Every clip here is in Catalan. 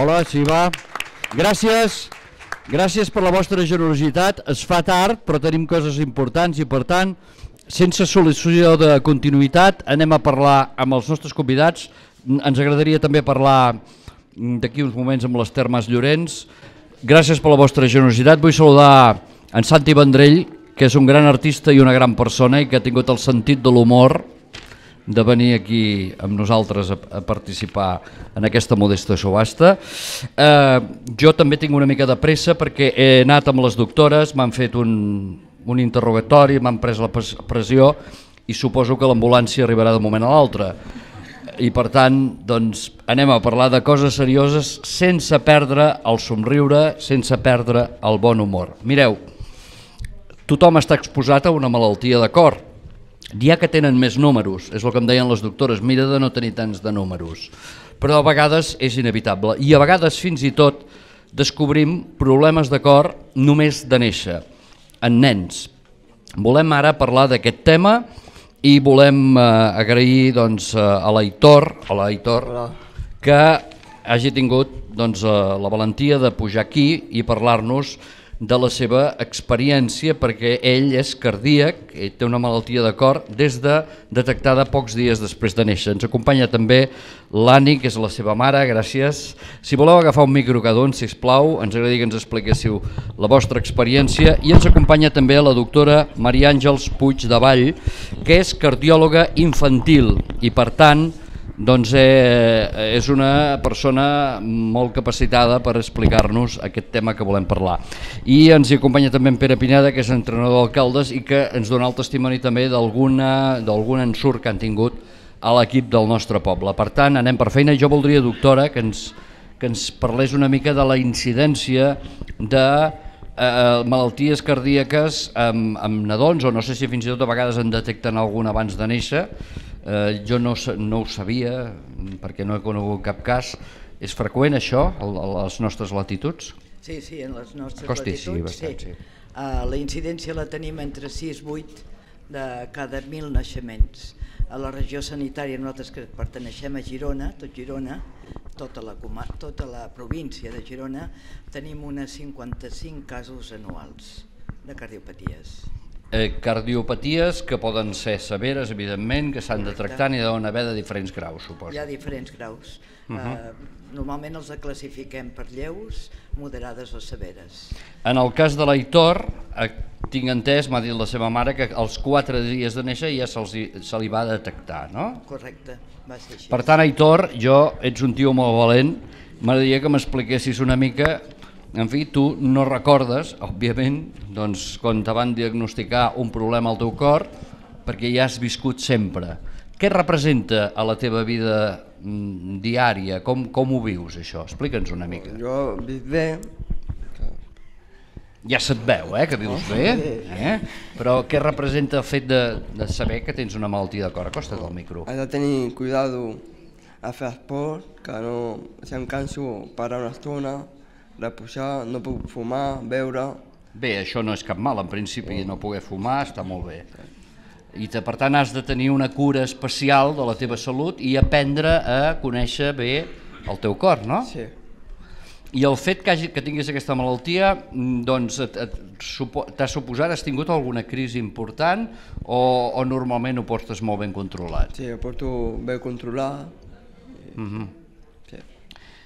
Hola, sí, va. Gràcies. Gràcies per la vostra generositat. Es fa tard, però tenim coses importants i, per tant, sense sol·licitud de continuïtat, anem a parlar amb els nostres convidats. Ens agradaria també parlar d'aquí uns moments amb l'Ester Mas Llorenç. Gràcies per la vostra generositat. Vull saludar en Santi Vendrell, que és un gran artista i una gran persona i que ha tingut el sentit de l'humor de venir aquí amb nosaltres a participar en aquesta modesta subhasta. Jo també tinc una mica de pressa perquè he anat amb les doctores, m'han fet un interrogatori, m'han pres la pressió i suposo que l'ambulància arribarà de moment a l'altre. I per tant, doncs, anem a parlar de coses serioses sense perdre el somriure, sense perdre el bon humor. Mireu, tothom està exposat a una malaltia de cor. N'hi ha que tenen més números, és el que em deien les doctores, mira de no tenir tants de números, però a vegades és inevitable i a vegades fins i tot descobrim problemes de cor només de néixer, en nens. Volem ara parlar d'aquest tema i volem agrair a l'Aitor que hagi tingut la valentia de pujar aquí i parlar-nos de la seva experiència, perquè ell és cardíac, ell té una malaltia de cor detectada pocs dies després de néixer. Ens acompanya també l'Anni, que és la seva mare, gràcies. Si voleu agafar un micro cada un, sisplau, ens agradaria que ens expliquéssiu la vostra experiència. I ens acompanya també la doctora Maria Àngels Puig de Vall, que és cardiòloga infantil i, per tant, és una persona molt capacitada per explicar-nos aquest tema que volem parlar. I ens hi acompanya també en Pere Pineda, que és entrenador d'alcaldes i que ens dona el testimoni també d'algun ensurt que han tingut a l'equip del nostre poble. Per tant, anem per feina. Jo voldria, doctora, que ens parlés una mica de la incidència de malalties cardíaques amb nadons, o no sé si fins i tot a vegades en detecten alguna abans de néixer. Jo no ho sabia perquè no he conegut cap cas. És freqüent això a les nostres latituds? Sí, en les nostres latituds sí. La incidència la tenim entre 6 i 8 de cada 1.000 naixements. A la regió sanitària, nosaltres que perteneixem a Girona, tota la província de Girona, tenim unes 55 casos anuals de cardiopaties. Cardiopaties que poden ser severes, evidentment, que s'han de tractar i deuen haver de diferents graus, suposo. Hi ha diferents graus. Normalment els classifiquem per lleus, moderades o severes. En el cas de l'Aitor, tinc entès, m'ha dit la seva mare, que als 4 dies de néixer ja se li va detectar, no? Correcte, va ser així. Per tant, Aitor, ets un tio molt valent, m'agradaria que m'expliquessis una mica. En fi, tu no recordes, òbviament, quan te van diagnosticar un problema al teu cor, perquè ja has viscut sempre. Què representa a la teva vida diària? Com ho vius, això? Explica'ns una mica. Jo visc bé. Ja se't veu, que vius bé. Però què representa el fet de saber que tens una malaltia de cor? Acosta't al micro. Has de tenir cuidado a fer esport, que no, si em canso, parar una estona, reposar, no puc fumar, beure. Bé, això no és cap mal, en principi no poder fumar està molt bé. I per tant has de tenir una cura especial de la teva salut i aprendre a conèixer bé el teu cor, no? Sí. I el fet que tinguis aquesta malaltia, t'ha suposat, has tingut alguna crisi important o normalment ho portes molt ben controlat? Sí, ho porto ben controlat.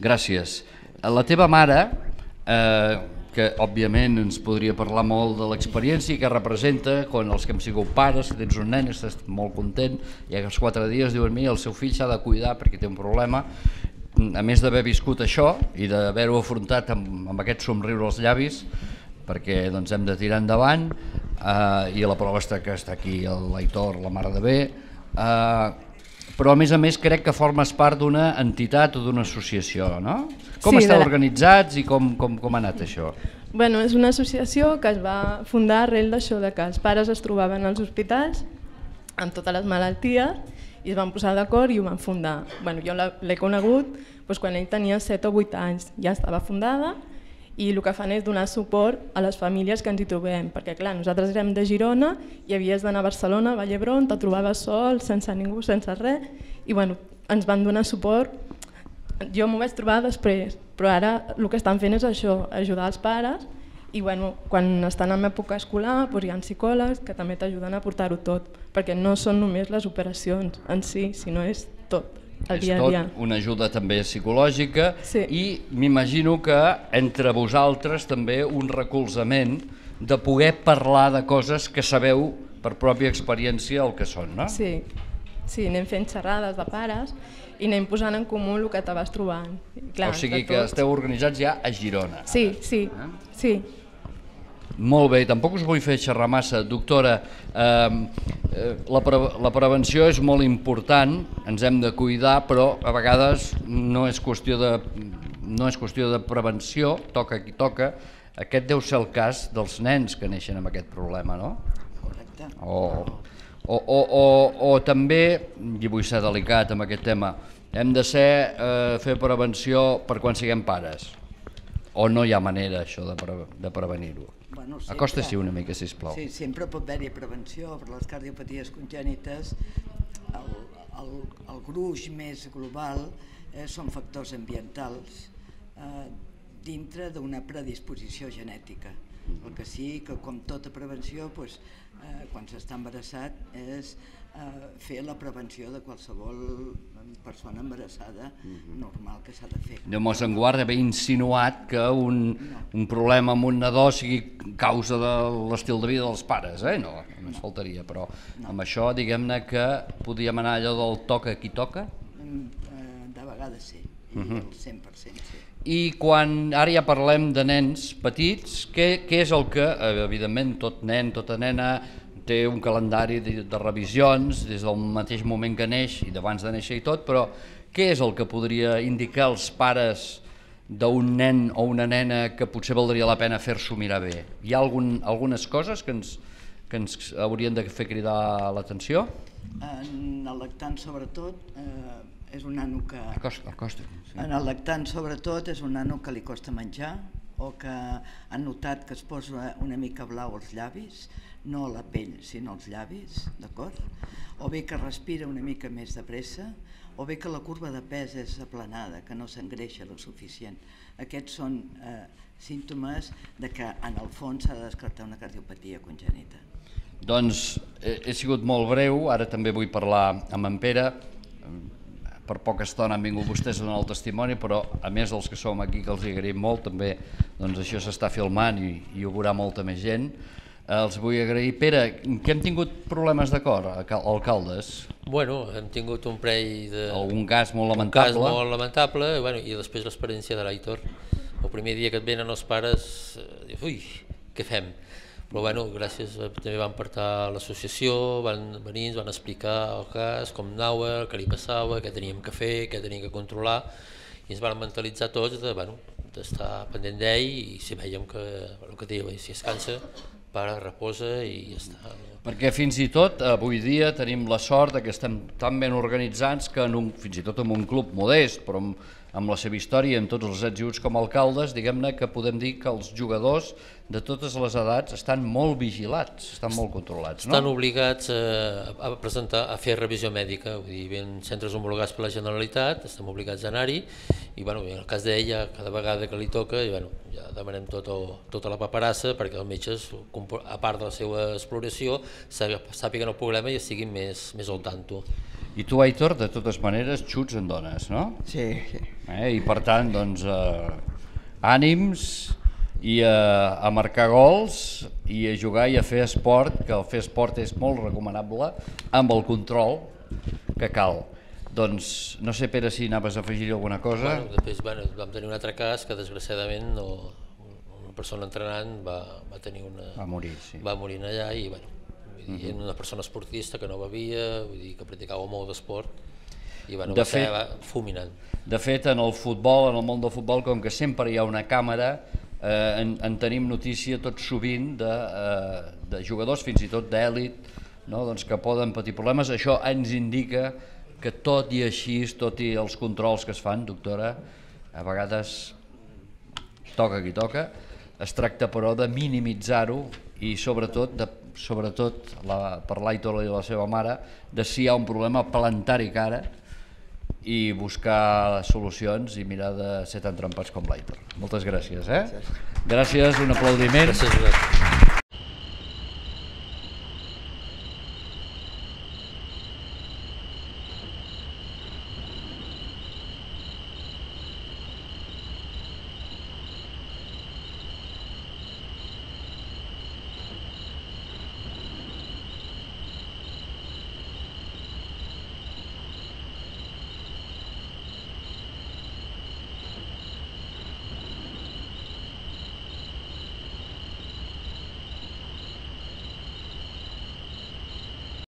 Gràcies. La teva mare, que òbviament ens podria parlar molt de l'experiència i que representa quan els que hem sigut pares, que tens un nen, estàs molt content, i als 4 dies diuen, mira, el seu fill s'ha de cuidar perquè té un problema, a més d'haver viscut això i d'haver-ho afrontat amb aquest somriure als llavis, perquè hem de tirar endavant, i la prova està que està aquí l'Aitor, la mare de bé, però a més crec que formes part d'una entitat o d'una associació, no? Com esteu organitzats i com ha anat això? Bueno, és una associació que es va fundar arrel d'això, que els pares es trobaven als hospitals amb totes les malalties i es van posar d'acord i ho van fundar. Jo l'he conegut quan ell tenia 7 o 8 anys, ja estava fundada, i el que fan és donar suport a les famílies que ens hi trobem, perquè clar, nosaltres érem de Girona i havies d'anar a Barcelona, a Vall d'Hebron, te trobaves sol, sense ningú, sense res, i ens van donar suport. Jo m'ho vaig trobar després, Però ara el que estan fent és això, ajudar els pares, i quan estan en època escolar hi ha psicòlegs que també t'ajuden a portar-ho tot, perquè no són només les operacions en si, sinó és tot, el dia a dia. És tot una ajuda també psicològica i m'imagino que entre vosaltres també un recolzament de poder parlar de coses que sabeu per pròpia experiència el que són, no? Sí, anem fent xerrades de pares i anem posant en comú el que te vas trobant. O sigui que esteu organitzats ja a Girona. Sí. Molt bé, tampoc us vull fer xerrar massa. Doctora, la prevenció és molt important, ens hem de cuidar, però a vegades no és qüestió de prevenció, toca qui toca. Aquest deu ser el cas dels nens que neixen amb aquest problema, no? Correcte. O també, i vull ser delicat amb aquest tema, hem de fer prevenció per quan siguem pares? O no hi ha manera això de prevenir-ho? Acosta-s'hi una mica, sisplau. Sí, sempre pot haver-hi prevenció per les cardiopaties congènites. El gruix més global són factors ambientals dintre d'una predisposició genètica. El que sí que, com tota prevenció, quan s'està embarassat és fer la prevenció de qualsevol persona embarassada normal que s'ha de fer. Déu mos en guarda, haver insinuat que un problema amb un nadó sigui causa de l'estil de vida dels pares, no, només faltaria, però amb això diguem-ne que podíem anar allò del toca qui toca? De vegades sí, i el 100% sí. I quan ara ja parlem de nens petits, què és el que, evidentment, tot nen, tota nena té un calendari de revisions des del mateix moment que neix i d'abans de néixer i tot, però què és el que podria indicar als pares d'un nen o una nena que potser valdria la pena fer-s'ho mirar bé? Hi ha algunes coses que ens haurien de fer cridar l'atenció? En el lactant, sobretot, és un nano que... En el lactant, sobretot, és un nano que li costa menjar o que han notat que es posa una mica blau als llavis, no a la pell, sinó als llavis, d'acord? O bé que respira una mica més de pressa, o bé que la curva de pes és aplanada, que no s'engreixa lo suficient. Aquests són símptomes de que en el fons s'ha de descartar una cardiopatia congènita. Doncs he sigut molt breu, ara també vull parlar amb en Pere. Per poca estona han vingut vostès a donar el testimoni, però a més dels que som aquí, que els agraïm molt, també això s'està filmant i ho veurà molta més gent. Els vull agrair. Pere, que hem tingut problemes de cor, alcaldes? Bueno, hem tingut un parell de... Algun cas molt lamentable? Un cas molt lamentable, i després l'experiència de l'Aitor. El primer dia que et venen els pares, ui, què fem? Però gràcies, també van portar l'associació, van venir, ens van explicar el cas, com anava, què li passava, què teníem que fer, què teníem que controlar, i ens van mentalitzar tots d'estar pendent d'ell, i si veiem que, el que deia, si es cansa, para, reposa i ja està. Perquè fins i tot avui dia tenim la sort que estem tan ben organitzats que fins i tot en un club modest, però amb la seva història, amb tots els adjunts com a alcaldes, diguem-ne que podem dir que els jugadors de totes les edats estan molt vigilats, estan molt controlats, no? Estan obligats a fer revisió mèdica, vull dir, en centres homologats per la Generalitat, estem obligats a anar-hi, i en el cas d'ella, cada vegada que li toca, ja demanem tota la paperassa perquè els metges, a part de la seva exploració, sàpiguen el problema i estiguin més al tanto. I tu, Aitor, de totes maneres, xuts en dones, no? Sí. I per tant, doncs, ànims i a marcar gols i a jugar i a fer esport, que el fer esport és molt recomanable, amb el control que cal. Doncs no sé, Pere, si anaves a afegir alguna cosa. Després vam tenir un altre cas que desgraciadament una persona entrenant va morir allà i una persona esportista que no bevia, vull dir que practicava molt d'esport i va ser fulminant. De fet, en el futbol, en el món del futbol, com que sempre hi ha una càmera, en tenim notícia tot sovint de jugadors, fins i tot d'èlit, que poden patir problemes. Això ens indica que tot i així, tot i els controls que es fan, doctora, a vegades toca qui toca, es tracta però de minimitzar-ho i sobretot per l'Aitor i la seva mare, de si hi ha un problema, plantar-hi cara i buscar solucions i mirar de ser tan trempats com l'Aitor. Moltes gràcies. Gràcies, un aplaudiment. Gràcies.